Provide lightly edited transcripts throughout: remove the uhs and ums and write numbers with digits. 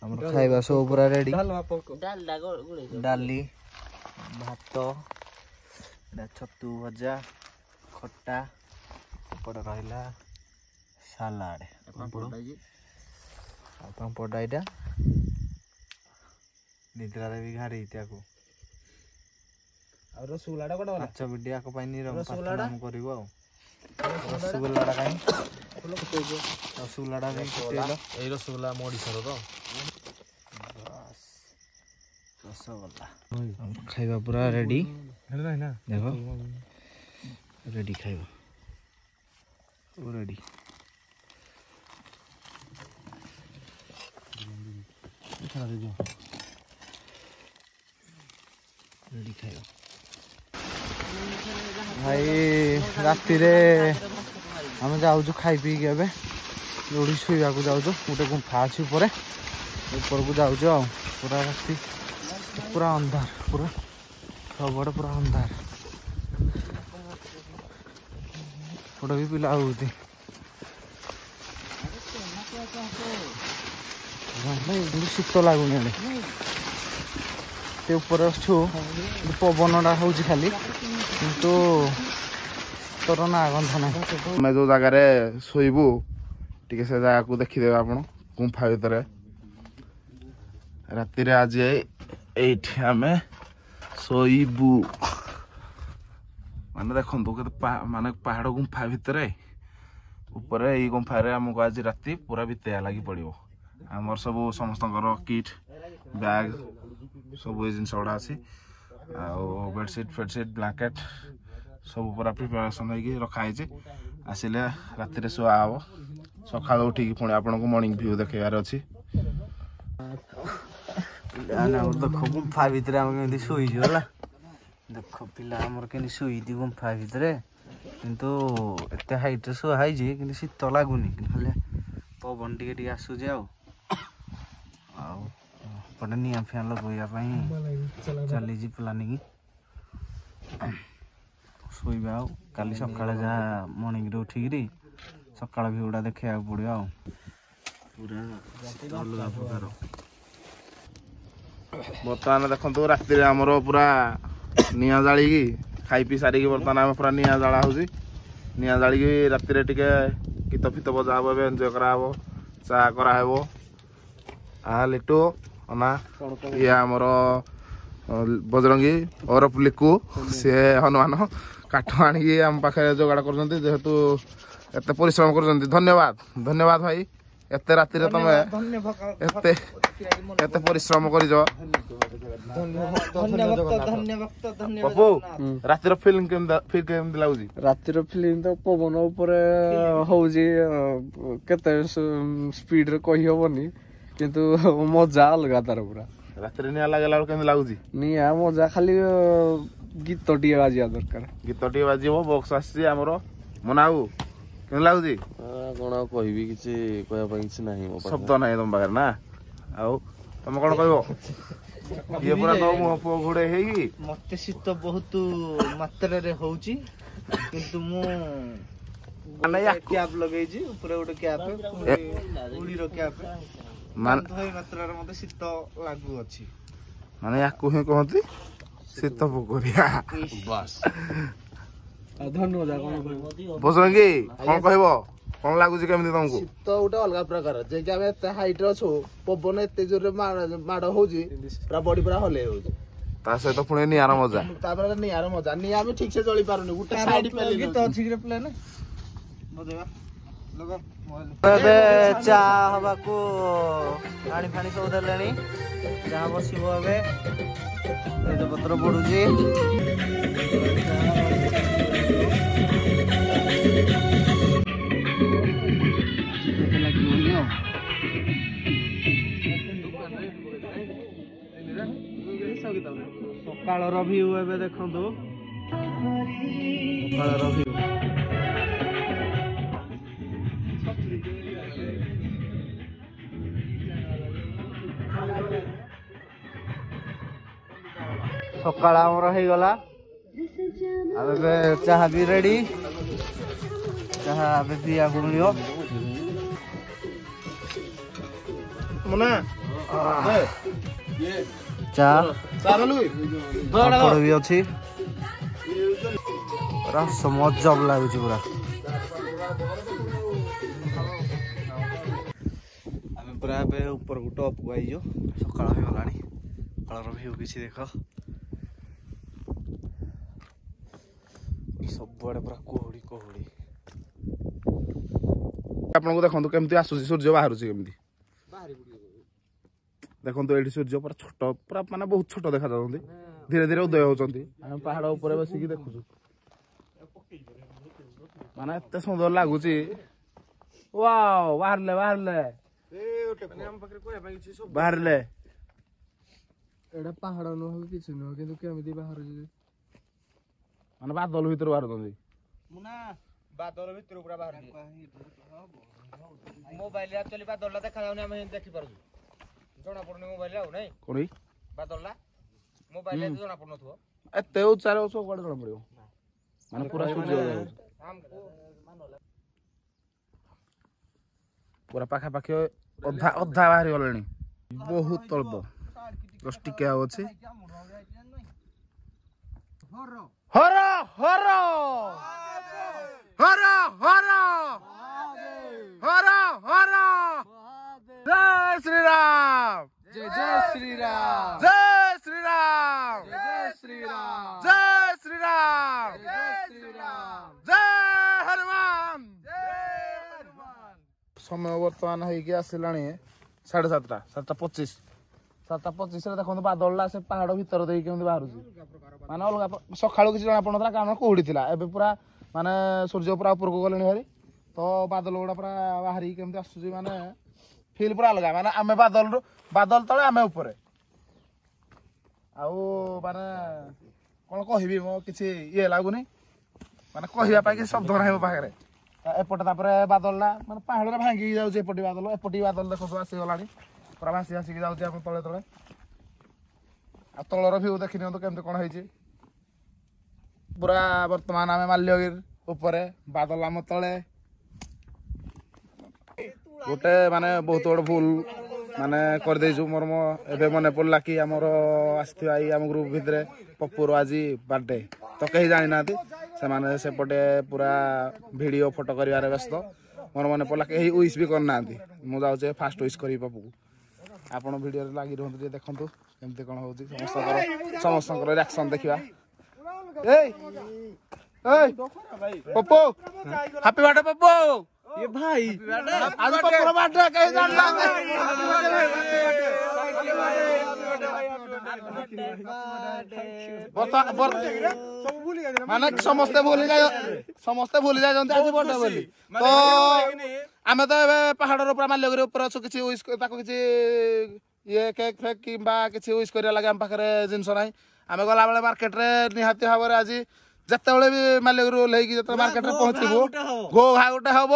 ଆମର ଖାଇବା ସବୁ ପୁରା ରେଡି। ଡାଲି, ଭାତ, ଏଇଟା ଛତୁ ଭଜା, ଖଟା, ଏପଟେ ରହିଲା ସାଲାଡ଼, ପାମ୍ପଡ଼ ଆଉ ପାମ୍ପଡ଼ଟା। ଏଇଟା ନିଦ୍ରାରେ ବି ଘାରି ତାକୁ। ଆଉ ରସଗୋଲାଟା କୁଆଡ଼େ ଗଲା? 5 ମିନିଟ୍ ଆକ ପାଇଁ ନିରବ ପ୍ରାର୍ଥନା ମୁଁ କରିବୁ। ଆଉ ରସଗୋଲାଟା କାହିଁ? ରସଗୋଲାଟା ବି ଫୁଟେଇଲ। ଏଇ ରସଗୋଲା ଆମ ଓଡ଼ିଶାର ତ। ବାସ୍, ରସଗୋଲା ଖାଇବା ପୁରା ରେଡି। ଦେଖ, ରେଡି ଖାଇବା ରେଡି। ରେଡି ଖାଇବା ଭାଇ। ରାତିରେ ଆମେ ଯାଉଛୁ ଖାଇ ପିଇକି ଏବେ ଯୋଉଠି ଶୋଇବାକୁ ଯାଉଛୁ, ଗୋଟେ ଗୁମ୍ଫା ଅଛି ଉପରେ, ଉପରକୁ ଯାଉଛୁ। ଆଉ ପୁରା ରାତି, ପୁରା ଅନ୍ଧାର, ପୁରା ସବୁଆଡ଼େ ପୁରା ଅନ୍ଧାର। ଏପଟେ ବି ପିଲା ହଉଛି। ଶୀତ ଲାଗୁନି ଆଡ଼େ, ଏତେ ଉପରେ ଅଛୁ, ପବନଟା ହଉଛି ଖାଲି, କିନ୍ତୁ ତୋର ନା ଗନ୍ଧ ନାହିଁ। ଆମେ ଯୋଉ ଜାଗାରେ ଶୋଇବୁ ଟିକେ ସେ ଜାଗାକୁ ଦେଖିଦେବେ ଆପଣ। ଗୁମ୍ଫା ଭିତରେ ରାତିରେ ଆଜି ଏଇଠି ଆମେ ଶୋଇବୁ। ମାନେ ଦେଖନ୍ତୁ କେତେ ମାନେ ପାହାଡ଼ ଗୁମ୍ଫା ଭିତରେ ଉପରେ, ଏଇ ଗୁମ୍ଫାରେ ଆମକୁ ଆଜି ରାତି ପୁରା ବିତେଇବା ଲାଗି ପଡ଼ିବ। ଆମର ସବୁ ସମସ୍ତଙ୍କର କିଟ୍ ବ୍ୟାଗ୍ ସବୁ ଏଇ ଜିନିଷ ଗୁଡ଼ା ଅଛି, ଆଉ ବେଡ଼ସିଟ୍ ଫେଡ଼ସିଟ୍ ବ୍ଲାଙ୍କେଟ୍ ସବୁ ପୁରା ପ୍ରିପାରେସନ୍ ହେଇକି ରଖା ହେଇଛି। ଆସିଲେ ରାତିରେ ଶୁଆ ହବ, ସକାଳୁ ଉଠିକି ପୁଣି ଆପଣଙ୍କୁ ମର୍ଣ୍ଣିଂ ଭ୍ୟୁ ଦେଖେଇବାର ଅଛି। ଦେଖ, ଗୁମ୍ଫା ଭିତରେ ଆମେ କେମିତି ଶୋଇଛୁ ହେଲା। ଦେଖ ପିଲା ଆମର କେମିତି ଶୋଇଛି ଗୁମ୍ଫା ଭିତରେ। କିନ୍ତୁ ଏତେ ହାଇଟ୍ରେ ଶୁଆ ହେଇଛି, କିନ୍ତୁ ଶୀତ ଲାଗୁନି, ଖାଲି ପବନ ଟିକେ ଟିକେ ଆସୁଛି। ଆଉ ଏପଟେ ନିଆଁ ଫିଆଁ ଲଗେଇବା ପାଇଁ ଚାଲିଛି ପ୍ଲାନିଂ। ଶୋଇବା ଆଉ କାଲି ସକାଳେ ଯାହା ମର୍ଣ୍ଣିଂରେ ଉଠିକିରି ସକାଳ ଭିଉଟା ଦେଖେଇବାକୁ ପଡ଼ିବ। ଆଉ ପୁରା ଅଲଗା ପ୍ରକାର। ବର୍ତ୍ତମାନ ଦେଖନ୍ତୁ, ରାତିରେ ଆମର ପୁରା ନିଆଁ ଜାଳିକି ଖାଇ ପିଇ ସାରିକି ବର୍ତ୍ତମାନ ଆମେ ପୁରା ନିଆଁ ଜାଳା ହଉଛି। ନିଆଁ ଜାଳିକି ରାତିରେ ଟିକେ ଗୀତ ଫିତ ବଜା ହବ, ଏବେ ଏନ୍ଜୟ କରାହବ, ଚା କରାହେବ। ଆ ଲିଟୁ ଅନା, ଇଏ ଆମର ବଜରଙ୍ଗୀ ଓରଫ ଲିକୁ, ସିଏ ହନୁମାନ କାଠ ଆଣିକି ଆମ ପାଖରେ ଯୋଗାଡ଼ କରୁଛନ୍ତି। ଯେହେତୁ ଏତେ ପରିଶ୍ରମ କରୁଛନ୍ତି, ଧନ୍ୟବାଦ, ଧନ୍ୟବାଦ ଭାଇ। ଏତେ ରାତିରେ ତମେ ଏତେ ଏତେ ପରିଶ୍ରମ କରିଛ। ପପୁ, ରାତିର ଫିଲ୍ମ କେମିତି, ଫିଲ୍ କେମିତି ଲାଗୁଛି? ରାତିର ଫିଲ୍ମ ତ ପବନ ଉପରେ ହଉଛି, କେତେ ସ୍ପିଡରେ କହିହବନି, କିନ୍ତୁ ମଜା ଅଲଗା ତାର ପୁରା। ରାତିରେ ନିଆଁ ଲାଗିଲା ବେଳକୁ କେମିତି ଲାଗୁଛି? ନିଆଁ ମଜା, ଖାଲି ଗୀତ ଟିକେ ବାଜିବା ଦରକାର। ଗୀତ ଟିକେ ବାଜିବ, ବକ୍ସ ଆସିଛି ଆମର। ମନାଉ, କେମିତି ଲାଗୁଛି? କଣ ଆଉ କହିବି, କିଛି କହିବା ପାଇଁ କିଛି ନାହିଁ, ଶବ୍ଦ ନାହିଁ ତମ ପାଖରେ ନା? ଆଉ ତମେ କଣ କହିବ? ଇଏ ପୁରା ତମ ମୁହଁ ପୁଅ ଘୋଡେଇ ହେଇକି। ମତେ ଶୀତ ବହୁତ ମାତ୍ରାରେ ହଉଛି, କିନ୍ତୁ ମୁଁ କ୍ୟାପ୍ ଲଗେଇଛି, ଉପରେ ଗୋଟେ କ୍ୟାପ୍, ଉଡ଼ିର କ୍ୟାପ୍। ମାନେ ମାତ୍ରାରେ ମତେ ଶୀତ ଲାଗୁଅଛି। ମାନେ ୟାକୁ ହିଁ କହନ୍ତି ଶୀତ ପୋକରିଆ। ବାସ୍। ଧନ୍ୟବାଦ। କଣ ବଜରଙ୍ଗୀ, କଣ କହିବ? କଣ ଲାଗୁଛି କେମିତି ତମକୁ? ଶୀତ ଗୋଟେ ଅଲଗା ପ୍ରକାର, ଯେ କି ଆମେ ଏତେ ହାଇଟ୍ ରେ ଅଛୁ, ପବନ ଏତେ ଜୋରରେ ମାଡ ହଉଛି, ପୁରା ବଡି ପୁରା ହଲେଇ ହଉଛି। ତା ସହିତ ପୁଣି ନିଆଁର ମଜା, ତାପରେ ନିଆଁର ମଜା। ନିଆଁ ବି ଠିକ ସେ ଜଳି ପାରୁନି, ଗୋଟେ ସାଇଡ। ଗୀତ ଅଛି କି ପ୍ଲେନ ବଜେଇବା? ଏବେ ଚା ହବାକୁ ପାଣି ଫାଣି ସବୁ ଦେଲେଣି, ଚା ବସିବ ଏବେ, ତେଜପତ୍ର ପଡୁଛି। ଲାଗିବନି। ଆଉ ସକାଳର ଭିଉ ଏବେ ଦେଖନ୍ତୁ, ସକାଳର ଭିଉ। ସକାଳ ଆମର ହେଇଗଲା, ଆଉ ଏବେ ଚାହା ବି ରେଡି, ଚାହା ଏବେ ପିଇବାକୁ ମିଳିବ। ମୁନା, ଚା ପାମ୍ପଡ଼ ବି ଅଛି। ପୁରା ମଜା ଲାଗୁଛି ପୁରା। ଆମେ ପୁରା ଏବେ ଉପରକୁ ଟପକୁ ଆଇଛୁ। ସକାଳ ହେଇଗଲାଣି। ସକାଳର ଭିଉ କିଛି ଦେଖ, ସବୁଆଡେ ପୁରା କୁହୁଡ଼ି କୁହୁଡ଼ି। ଆପଣଙ୍କୁ ଦେଖନ୍ତୁ କେମିତି ଆସୁଛି ସୂର୍ଯ୍ୟ, ବାହାରୁଛି କେମିତି ଦେଖନ୍ତୁ। ଏଇଠି ସୂର୍ଯ୍ୟ ପୁରା ଛୋଟ, ପୁରା ମାନେ ବହୁତ ଛୋଟ ଦେଖାଯାଉଛନ୍ତି, ଧୀରେ ଧୀରେ ଉଦୟ ହଉଛନ୍ତି। ଆମେ ପାହାଡ ଉପରେ ବସିକି ଦେଖୁଛୁ, ମାନେ ଏତେ ସୁନ୍ଦର ଲାଗୁଛି। ୱାଓ, ବାହାରିଲେ ବାହାରିଲେ ବାହାରିଲେ। ଏଇଟା ପାହାଡ ନୁହଁ କି କିଛି ନୁହଁ, କିନ୍ତୁ କେମିତି ବାହାରୁଛି? ମାନେ ବାଦଲ ଭିତରୁ ବାହାରୁଛନ୍ତି। ବାଦଲ ଭିତରୁ ପୁରା ବାହାରୁଛି। ମୋବାଇଲରେ ଆକ୍ଚୁଆଲି ବାଦଲଟା ଦେଖାଯାଉନି, ଆମେ ଦେଖିପାରୁଛୁ, ଜଣା ପଡୁନି ମୋବାଇଲରେ। ଆଉ ନାଇଁ କଣ ବାଦଲଟା ମୋବାଇଲରେ ଜଣା ପଡୁନଥିବ, ଏତେ ଉଚ୍ଚାରେ ଅଛ, କୁଆଡେ ଜଣା ପଡିବ? ମାନେ ପୁରା ସୂର୍ଯ୍ୟ ପୁରା ପାଖାପାଖି ଅଧା ଅଧା ବାହାରି ଗଲେଣି, ବହୁତ ଅଳ୍ପ ଜଷ୍ଟ ଟିକେ ଆଉ ଅଛି। ହର ହର ହର ହର ହର ହର, ଜୟ ଶ୍ରୀରାମ, ଜୟ ଜୟ ଶ୍ରୀରାମ, ଜୟ ଶ୍ରୀରାମ, ଜୟ ଶ୍ରୀରାମ, ଜୟ ଶ୍ରୀରାମ, ଜୟ ଶ୍ରୀରାମ, ଜୟ ହନୁମାନ। ସମୟ ବର୍ତ୍ତମାନ ହେଇକି ଆସିଲାଣି 7:30, 7:25। 7:25ରେ ଦେଖନ୍ତୁ ବାଦଲଟା ସେ ପାହାଡ଼ ଭିତର ଦେଇକି କେମିତି ବାହାରୁଛି, ମାନେ ଅଲଗା। ସକାଳୁ କିଛି ଜଣା ପଡୁନଥିଲା କାରଣ କୁହୁଡ଼ି ଥିଲା। ଏବେ ପୁରା ମାନେ ସୂର୍ଯ୍ୟ ପୁରା ଉପରକୁ ଗଲେଣି ଭାରି, ତ ବାଦଲ ଗୁଡ଼ା ପୁରା ବାହାରିକି କେମିତି ଆସୁଛି, ମାନେ ଫିଲ୍ ପୁରା ଅଲଗା। ମାନେ ଆମେ ବାଦଲରୁ, ବାଦଲ ତଳେ ଆମେ ଉପରେ। ଆଉ ମାନେ କ'ଣ କହିବି, ମୋ କିଛି ଇଏ ଲାଗୁନି, ମାନେ କହିବା ପାଇଁ କିଛି ଶବ୍ଦ ନାହିଁ ମୋ ପାଖରେ। ଏପଟେ ତାପରେ ବାଦଲଟା ମାନେ ପାହାଡ଼ରେ ଭାଙ୍ଗିକି ଯାଉଛି। ଏପଟେ ବାଦଲ, ଏପଟେ ବାଦଲ ଦେଖନ୍ତୁ ଆସିଗଲାଣି, ପୁରା ଭାସି ଭାସିକି ଯାଉଛି ଆମ ତଳେ ତଳେ। ଆଉ ତଳର ଭିଉ ଦେଖି ନିଅନ୍ତୁ କେମିତି କ'ଣ ହେଇଛି ପୁରା। ବର୍ତ୍ତମାନ ଆମେ ମାଲ୍ୟଗିରି ଉପରେ, ବାଦଲ ଆମ ତଳେ। ଗୋଟେ ମାନେ ବହୁତ ବଡ଼ ଭୁଲ ମାନେ କରିଦେଇଛୁ। ମୋର ମୋ ଏବେ ମନେ ପଡ଼ିଲା କି ଆମର ଆସିଥିବା ଏଇ ଆମ ଗ୍ରୁପ ଭିତରେ ପପୁର ଆଜି ବାର୍ଥଡେ, ତ କେହି ଜାଣିନାହାନ୍ତି। ସେମାନେ ସେପଟେ ପୁରା ଭିଡ଼ିଓ ଫଟୋ କରିବାରେ ବ୍ୟସ୍ତ। ମୋର ମନେ ପଡ଼ିଲା କେହି ୱିଶ୍ ବି କରିନାହାନ୍ତି। ମୁଁ ଯାଉଛି ଫାଷ୍ଟ ୱିଶ୍ କରିବି ପପୁକୁ। ଆପଣ ଭିଡ଼ିଓରେ ଲାଗି ରୁହନ୍ତୁ, ଟିକେ ଦେଖନ୍ତୁ କେମିତି କ'ଣ ହେଉଛି, ସମସ୍ତଙ୍କର ରିଆକ୍ସନ୍ ଦେଖିବା। ଏଇ ଏଇ ପପୁ, ହାପି ବାର୍ଥଡେ ପପୁ। ଏ ଭାଇ, ଆଜି ପପୁର ବାର୍ଥଡେ, କେହି ଜାଣିନାହାନ୍ତି। ମାନେ ସମସ୍ତେ ଭୁଲି ଯାଇ, ସମସ୍ତେ ଭୁଲି ଯାଇଛନ୍ତି ଆଜି ବର୍ଥଡେ ବୋଲି। ତ ଆମେ ତ ଏବେ ପାହାଡ଼ର ପୁରା ମାଲ୍ୟଗିରି ଉପରେ ଅଛୁ। କିଛି ୱିଶ୍ ତାକୁ କିଛି ଇଏ କେକ୍ ଫେକ୍ କିମ୍ବା କିଛି ୱିଶ୍ କରିବା ଲାଗି ଆମ ପାଖରେ ଜିନିଷ ନାହିଁ। ଆମେ ଗଲାବେଳେ ମାର୍କେଟରେ ନିହାତି ଭାବରେ ଆଜି ଯେତେବେଳେ ବି ମାଲ୍ୟଗିରି ଓହ୍ଲେଇକି ଯେତେବେଳେ ମାର୍କେଟରେ ପହଞ୍ଚିବୁ, ଘୋ ଘା ଗୋଟେ ହବ,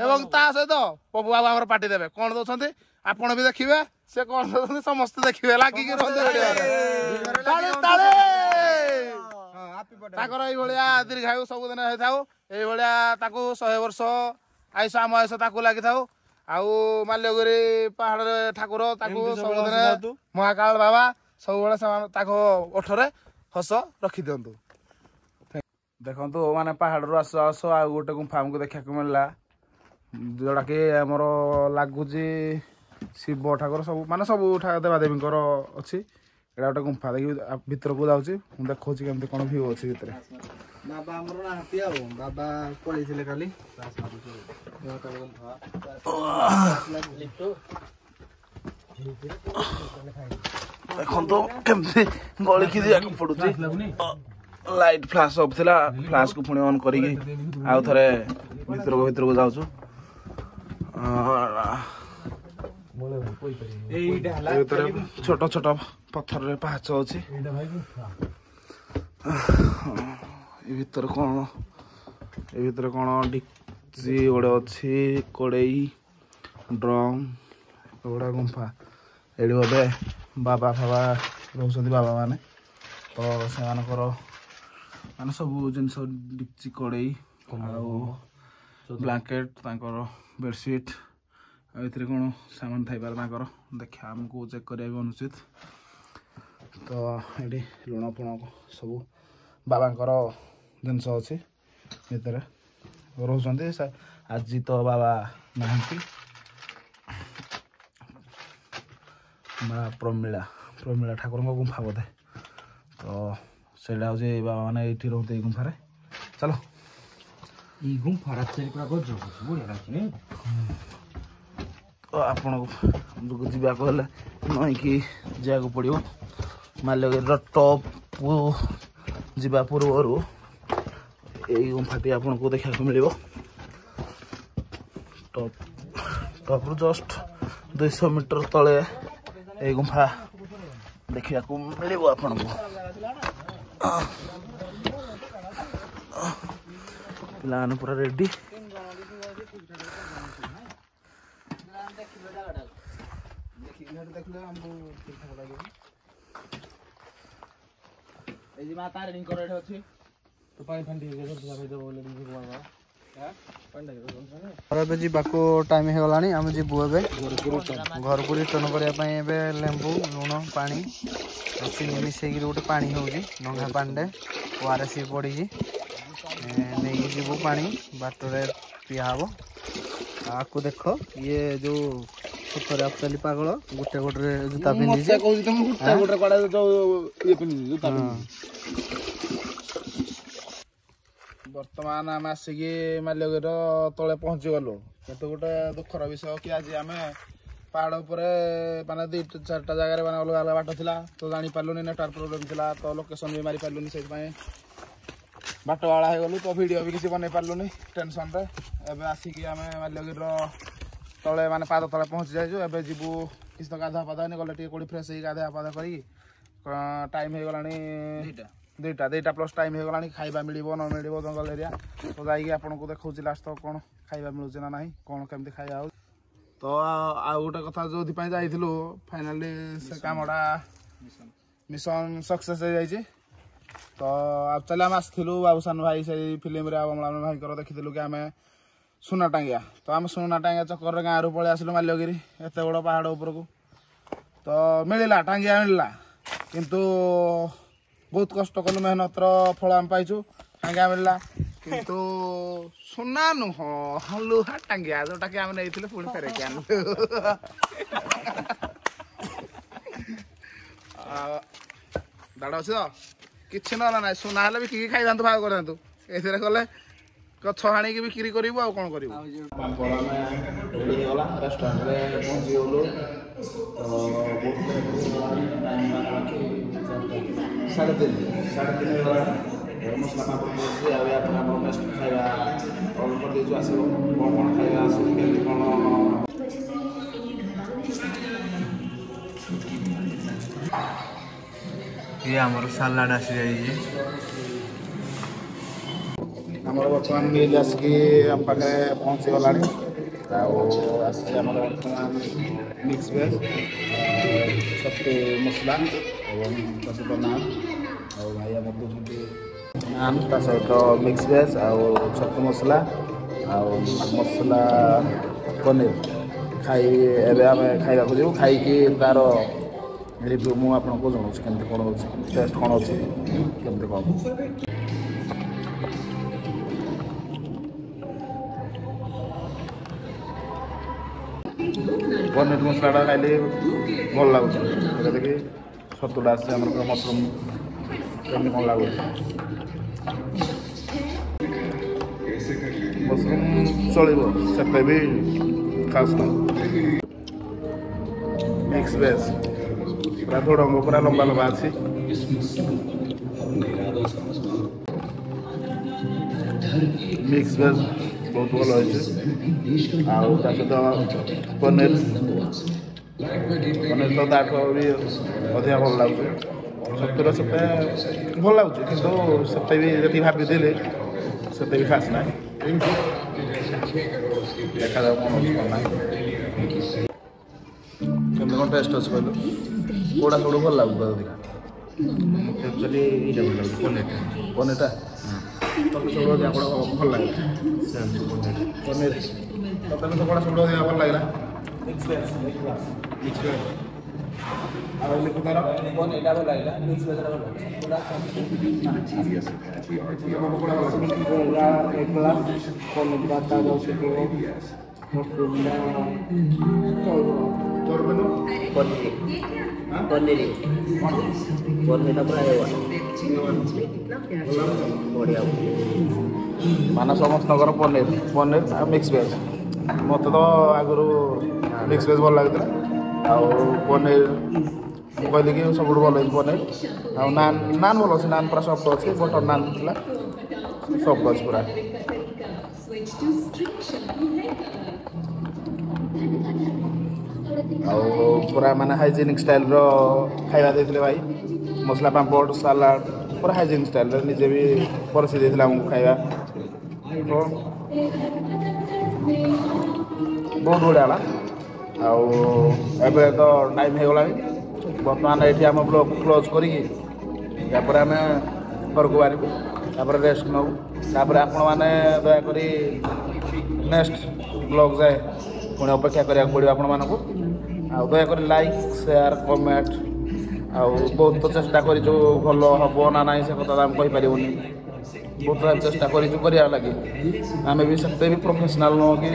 ଏବଂ ତା ସହିତ ପପୁ ବାବୁ ଆମର ପାଟି ଦେବେ କ'ଣ ଦଉଛନ୍ତି, ଆପଣ ବି ଦେଖିବେ ସେ କ'ଣ ଦଉଛନ୍ତି, ସମସ୍ତେ ଦେଖିବେ। ଲାଗିକି ରୁହନ୍ତୁ ତାଳି ତାଳି। ତାଙ୍କର ଏଇଭଳିଆ ଦୀର୍ଘାୟୁ ସବୁଦିନ ହେଇଥାଉ, ଏଇଭଳିଆ ତାକୁ 100 ବର୍ଷ ଆୟୁଷ, ଆମ ଆୟୁଷ ତାକୁ ଲାଗିଥାଉ। ଆଉ ମାଲ୍ୟଗିରି ପାହାଡ଼ରେ ଠାକୁର ତାକୁ ସବୁଦିନ ମହାକାଳ ବାବା ସବୁବେଳେ ସେମାନେ ତାଙ୍କ ଓଠରେ ହସ ରଖିଦିଅନ୍ତୁ। ଦେଖନ୍ତୁ ମାନେ ପାହାଡ଼ରୁ ଆସୁ ଆସୁ ଆଉ ଗୋଟେ ଗୁମ୍ଫା ଆମକୁ ଦେଖିବାକୁ ମିଳିଲା, ଯୋଉଟାକି ଆମର ଲାଗୁଛି ଶିବ ଠାକୁର ସବୁ, ମାନେ ସବୁ ଦେବାଦେବୀଙ୍କର ଅଛି। ଏଇଟା ଗୋଟେ ଗୁମ୍ଫା ଦେଖି ଭିତରକୁ ଯାଉଛି, ମୁଁ ଦେଖାଉଛି କେମିତି କ'ଣ ଭିଉ ଅଛି ଭିତରେ। ବାବା ଆମର ନାହାନ୍ତି, ଆଉ ବାବା ପଳେଇଥିଲେ କାଲି। ଦେଖନ୍ତୁ କେମିତି ଗଳିକି ଯିବାକୁ ପଡୁଛି। ଲାଇଟ୍ ଫ୍ଲାସ୍ ଅଫ୍ ଥିଲା, ଫ୍ଲାସ୍କୁ ପୁଣି ଅନ୍ କରିକି ଆଉ ଥରେ ଭିତରକୁ ଭିତରକୁ ଯାଉଛୁ। ଭିତରେ ଛୋଟ ଛୋଟ ପଥରରେ ପାହାଚ ଅଛି। ଏ ଭିତରେ କ'ଣ, ଏ ଭିତରେ କ'ଣ ଡିକ୍ଚି ଗୋଟେ ଅଛି, କଡ଼େଇ, ଡ୍ରମ୍ ଏଗୁଡ଼ା। ଗୁମ୍ଫା ଏଇଠି ବୋଧେ ବାବା ଫାବା ରହୁଛନ୍ତି, ବାବା ମାନେ ତ ସେମାନଙ୍କର ମାନେ ସବୁ ଜିନିଷ, ଡିକ୍ଚି, କଡ଼େଇ ଆଉ ବ୍ଲାଙ୍କେଟ୍, ତାଙ୍କର ବେଡ଼ସିଟ୍ ଆଉ ଏଥିରେ କ'ଣ ସାମାନ ଥାଇପାରେ ତାଙ୍କର, ଦେଖିବା ଆମକୁ ଚେକ୍ କରିବା ବି ଅନୁଚିତ। ତ ଏଠି ଲୁଣ ଫୁଣ ସବୁ ବାବାଙ୍କର ଜିନିଷ ଅଛି, ଭିତରେ ରହୁଛନ୍ତି। ଆଜି ତ ବାବା ନାହାନ୍ତି। ମା ପ୍ରମିଳା, ପ୍ରମିଳା ଠାକୁରଙ୍କ ଗୁମ୍ଫା ବୋଧେ। ତ ସେଇଟା ହେଉଛି ବାବା ମାନେ ଏଇଠି ରହୁଛନ୍ତି ଏଇ ଗୁମ୍ଫାରେ। ଚାଲ, ଏଇ ଗୁମ୍ଫା ରାତିରେ ପୁରା ଗଜବ ବଢ଼ିଆ ଲାଗୁଛି ନାଇଁ? ତ ଆପଣଙ୍କୁ ଯିବାକୁ ହେଲେ ନଇଁକି ଯିବାକୁ ପଡ଼ିବ। ମାଲ୍ୟଗିରିର ଟପ୍କୁ ଯିବା ପୂର୍ବରୁ ଏଇ ଗୁମ୍ଫାଟି ଆପଣଙ୍କୁ ଦେଖିବାକୁ ମିଳିବ। ଟପ୍ରୁ ଜଷ୍ଟ 200 ମିଟର ତଳେ ଏଇ ଗୁମ୍ଫା ଦେଖିବାକୁ ମିଳିବ ଆପଣଙ୍କୁ। ପିଲାମାନେ ପୁରା ରେଡି। ଏଇ ଯେ ମା ତାରିଣୀଙ୍କର ଏଠି ଅଛି। ତ ପାଣି ଫାଣି ଟିକେ ଏବେ ଯିବାକୁ ଟାଇମ୍ ହେଇଗଲାଣି, ଆମେ ଯିବୁ ଏବେ ଘରକୁ ରିଟର୍ଣ୍ଣ କରିବା ପାଇଁ। ଏବେ ଲେମ୍ବୁ ଲୁଣ ପାଣି ଚିନି ମିଶେଇକିରି ଗୋଟେ ପାଣି ହେଉଛି, ନଙ୍ଗା ପାଣିରେ ଓ ଆର୍ ଏସ୍ ପଡ଼ିଛି। ନେଇକି ଯିବୁ, ପାଣି ବାଟରେ ପିଆ ହବ। ଆକୁ ଦେଖ, ଇଏ ଯୋଉ ସତରେ ଆକ୍ଚୁଆଲି ପାଗଳ, ଗୋଟେ ଗୋଟରେ ଜୁତା ପିନ୍ଧିଛି। କହୁଛି ତମେ ଗୋଟେ ଗୋଟେ କୁଆଡେ ଯୋଉ ଇଏ ପିନ୍ଧିଛି, ଜୁତା ପିନ୍ଧିଛି। ବର୍ତ୍ତମାନ ଆମେ ଆସିକି ମାଲ୍ୟଗିରିର ତଳେ ପହଞ୍ଚି ଗଲୁ, କିନ୍ତୁ ଗୋଟେ ଦୁଃଖର ବିଷୟ କି ଆଜି ଆମେ ପାହାଡ଼ ଉପରେ ମାନେ 2ଟା 4ଟା ଜାଗାରେ ମାନେ ଅଲଗା ଅଲଗା ବାଟ ଥିଲା, ତ ଜାଣିପାରିଲୁନି, ନେଟୱାର୍କ ପ୍ରୋବ୍ଲେମ୍ ଥିଲା, ତ ଲୋକେସନ୍ ବି ମାରିପାରିଲୁନି, ସେଇଥିପାଇଁ ବାଟବାଳା ହେଇଗଲୁ। ତ ଭିଡ଼ିଓ ବି କିଛି ବନେଇ ପାରିଲୁନି ଟେନସନ୍ରେ। ଏବେ ଆସିକି ଆମେ ମାଲ୍ୟଗିରିର ତଳେ ମାନେ ପାଦ ତଳେ ପହଞ୍ଚି ଯାଇଛୁ। ଏବେ ଯିବୁ, କିଛି ତ ଗାଧୁଆ ପାଧୁଆ ହେଇନି, ଗଲେ ଟିକେ କୋଉଠି ଫ୍ରେଶ୍ ହେଇକି ଗାଧୁଆ ପାଧୁଆ କରିକି। ଟାଇମ୍ ହେଇଗଲାଣି 2ଟା, 2ଟା ପ୍ଲସ୍ ଟାଇମ୍ ହେଇଗଲାଣି। ଖାଇବା ମିଳିବ ନ ମିଳିବ ଜଙ୍ଗଲ ଏରିଆ, ତ ଯାଇକି ଆପଣଙ୍କୁ ଦେଖାଉଛି ଲାଷ୍ଟ ତ କ'ଣ ଖାଇବା ମିଳୁଛି ନା ନାହିଁ, କ'ଣ କେମିତି ଖାଇବା ହେଉଛି। ତ ଆଉ ଗୋଟେ କଥା, ଯୋଉଥିପାଇଁ ଯାଇଥିଲୁ ଫାଇନାଲି ସେ କାମଟା ମିଶନ ସକ୍ସେସ୍ ହେଇଯାଇଛି। ତ ଆକ୍ଚୁଆଲି ଆମେ ଆସିଥିଲୁ ବାବୁସାନ ଭାଇ ସେଇ ଫିଲ୍ମରେ ଆଉ ଅମଳାନ ଭାଇଙ୍କର ଦେଖିଥିଲୁ କି ଆମେ ସୁନା ଟାଙ୍ଗିଆ। ତ ଆମେ ସୁନା ଟାଙ୍ଗିଆ ଚକରରେ ଗାଁରୁ ପଳେଇ ଆସିଲୁ ମାଲ୍ୟଗିରି ଏତେ ବଡ଼ ପାହାଡ଼ ଉପରକୁ। ତ ମିଳିଲା ଟାଙ୍ଗିଆ ମିଳିଲା, କିନ୍ତୁ ବହୁତ କଷ୍ଟ କଲୁ, ମେହନତର ଫଳ ଆମେ ପାଇଛୁ। ଟାଙ୍ଗିଆ ମିଳିଲା କିନ୍ତୁ ସୁନା ନୁହଁ, ଲୁହା ଟାଙ୍ଗିଆ ଯୋଉଟାକି ଆମେ ନେଇଥିଲୁ ପୁଣି ଫେରେଇକି ଆଣିଲୁ। ଦାଡ଼ ଅଛି ତ କିଛି ନହେଲା ନାହିଁ, ସୁନା ହେଲେ ବିକିକି ଖାଇଥାନ୍ତୁ, ଭାଗ କରିଥାନ୍ତୁ। ଏଥିରେ କଲେ ଗଛ ହାଣିକି ବିକ୍ରି କରିବୁ ଆଉ କ'ଣ କରିବୁ। ପାମ୍ପଡ଼ ଆମେ ରେଡ଼ି ହେଇଗଲା, ରେଷ୍ଟୁରାଣ୍ଟରେ ପହଞ୍ଚିଗଲୁ। ତ ବହୁତ ଲେଟ୍ ହେଇଗଲାଣି, ଟାଇମ୍ ପାଖାପାଖି 3:30, 3:30 ହେଇଗଲାଣି। ମସଲା ପାମ୍ପଡ଼ ପହଞ୍ଚି ଆଉ ୟା ପରେ ଆମର ନେକ୍ସଟ ଖାଇବା ଅର୍ଡ଼ର କରିଦେଇଛୁ, ଆସିବ। କ'ଣ କ'ଣ ଖାଇବା ଆସୁଛି, କେମିତି କ'ଣ। ଇଏ ଆମର ସାଲାଡ଼ ଆସିଯାଇଛି। ଆମର ବର୍ତ୍ତମାନ ମିଲ୍ ଆସିକି ଆମ ପାଖରେ ପହଞ୍ଚିଗଲାଣି। ଆଉ ଆସିଛି ଆମର ବର୍ତ୍ତମାନ ମିକ୍ସ ଭେଜ୍, ଛତୁ ମସଲା ଏବଂ ତା ସହିତ ନାନ୍। ଆଉ ଭାଇ ଆମର ଦେଉଛନ୍ତି ନାନ୍, ତା ସହିତ ମିକ୍ସ ଭେଜ୍ ଆଉ ଛତୁ ମସଲା ଆଉ ମସଲା ପନିର। ଖାଇ ଏବେ ଆମେ ଖାଇବାକୁ ଯିବୁ, ଖାଇକି ତାର ରିଭ୍ୟୁ ମୁଁ ଆପଣଙ୍କୁ ଜଣାଉଛି କେମିତି କ'ଣ ଅଛି, ଟେଷ୍ଟ କ'ଣ ଅଛି, କେମିତି କ'ଣ। ପନିର ମସଲାଟା ଖାଇଲେ ଭଲ ଲାଗୁଛି। ଏଟା ଦେଖି ଛତୁଟା ଆସିଛି ଆମର ମସରୁମ୍, କେମିତି କ'ଣ ଲାଗୁଛି। ମସରୁମ୍ ଚଳିବ, ସେତେ ବି ଖାସ୍ ନାହିଁ। ମିକ୍ସ ଭେଜ୍ ପୁରା ଧୋଡ଼ଙ୍ଗ ପୁରା ଲମ୍ବା ଲମ୍ବା ଅଛି। ମିକ୍ସ ଭେଜ୍ ବହୁତ ଭଲ ହେଇଛି, ଆଉ ତା ସହିତ ପନିର, ପନିର ତ ତାଠୁ ବି ଅଧିକା ଭଲ ଲାଗୁଛି। ଛତୁର ସେତେ ଭଲ ଲାଗୁଛି, କିନ୍ତୁ ସେତେ ବି ଯେତିକି ଭାବିଥିଲି ସେତେ ବି ଖାସ୍ ନାହିଁ। ଦେଖାଯାଉ କ'ଣ ଅଛି କ'ଣ ନାହିଁ। କେମିତି କ'ଣ ଟେଷ୍ଟ ଅଛି କହିଲୁ, କେଉଁଟା ସବୁଠୁ ଭଲ ଲାଗୁଛି ଅଧିକା? ମୋତେ ଆକ୍ଚୁଆଲି ଏଇଟା ଭଲ ଲାଗୁଛି, ପନିରଟା। ପନିରଟା ତତେ ସବୁଠୁ ଅଧିକା କେଉଁଟା ଭଲ ଲାଗିଲା? ପନିର। ତତେ ତ କେଉଁଟା ସବୁଠୁ ଅଧିକା ଭଲ ଲାଗିଲା? ମିକ୍ସ ଭେଜ୍ ଏକ ଗ୍ଲାସ୍ ମିକ୍ସ ଭେଜ୍। ଆଉ ଲିଖୁତାର ପନିରଟା ଭଲ ଲାଗିଲା, ମିକ୍ସ ଭେଜଟା ଭଲ ଲାଗିଲା। ଏକ ଗ୍ଲାସ୍ ପନିର ମସରୁମଟା ଚଳିବ। ତୋର ମେନୁ? ପନିର, ପନିର, ପନିରଟା ପୁରା ଏ1, ବଢ଼ିଆ। ମାନେ ସମସ୍ତଙ୍କର ପନିର, ପନିର ଆଉ ମିକ୍ସ ଭେଜ୍। ମୋତେ ତ ଆଗରୁ ମିକ୍ସ ଭେଜ୍ ଭଲ ଲାଗୁଥିଲା, ଆଉ ପନିର ମୁଁ କହିଲି କି ସବୁଠୁ ଭଲ ହେଇଛି ପନିର। ଆଉ ନାନ୍, ନାନ୍ ଭଲ ଅଛି, ନାନ୍ ପୁରା ସଫ୍ଟ ଅଛି। ବଟର୍ ନାନ୍ ଥିଲା, ସଫ୍ଟ ଅଛି ପୁରା। ଆଉ ପୁରା ମାନେ ହାଇଜେନିକ୍ ଷ୍ଟାଇଲ୍ର ଖାଇବା ଦେଇଥିଲେ ଭାଇ, ମସଲା ପାମ୍ପଡ଼, ସାଲାଡ଼, ପୁରା ହାଇଜେନିକ୍ ଷ୍ଟାଇଲ୍ରେ ନିଜେ ବି ପରସି ଦେଇଥିଲେ ଆମକୁ ଖାଇବା। ତ ବହୁତ ବଢ଼ିଆ ହେଲା। ଆଉ ଏବେ ତ ଟାଇମ୍ ହେଇଗଲାଣି, ବର୍ତ୍ତମାନ ଏଇଠି ଆମ ବ୍ଲଗ୍ କ୍ଲୋଜ୍ କରିକି ତାପରେ ଆମେ ଘରକୁ ବାହାରିବୁ, ତାପରେ ରେଷ୍ଟ ନେବୁ। ତାପରେ ଆପଣମାନେ ଦୟାକରି ନେକ୍ସଟ ବ୍ଲଗ୍ ଯାଏ ପୁଣି ଅପେକ୍ଷା କରିବାକୁ ପଡ଼ିବ ଆପଣମାନଙ୍କୁ। ଆଉ ଦୟାକରି ଲାଇକ୍, ସେୟାର, କମେଣ୍ଟ। ଆଉ ବହୁତ ତ ଚେଷ୍ଟା କରିଛୁ, ଭଲ ହେବ ନା ନାହିଁ ସେ କଥା ତ ଆମେ କହିପାରିବୁନି। ବହୁତ ଚେଷ୍ଟା କରିଛୁ କରିବା ଲାଗି, ଆମେ ବି ସେତେ ବି ପ୍ରଫେସନାଲ୍ ନୁହଁ କି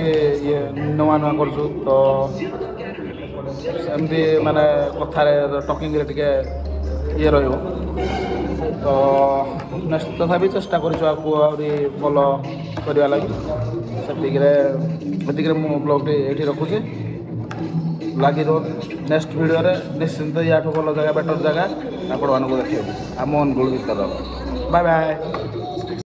ଇଏ, ନୂଆ ନୂଆ କରୁଛୁ ତ ସେମିତି ମାନେ କଥାରେ ଟକିଂରେ ଟିକେ ଇଏ ରହିବ। ତ ନେକ୍ସଟ ତଥାପି ଚେଷ୍ଟା କରିଛୁ ଆଗକୁ ଆହୁରି ଭଲ କରିବା ଲାଗି। ସେତିକିରେ ଏତିକିରେ ମୁଁ ବ୍ଲଗ୍ଟି ଏଇଠି ରଖୁଛି। ଲାଗି ରୁହନ୍ତୁ, ନେକ୍ସଟ ଭିଡ଼ିଓରେ ନିଶ୍ଚିନ୍ତ ୟାଠୁ ଭଲ ଜାଗା, ବେଟର୍ ଜାଗା ଆପଣମାନଙ୍କୁ ଦେଖେଇବୁ ଆମ ଅନୁଗୁଳ ଭିତର। Bye bye.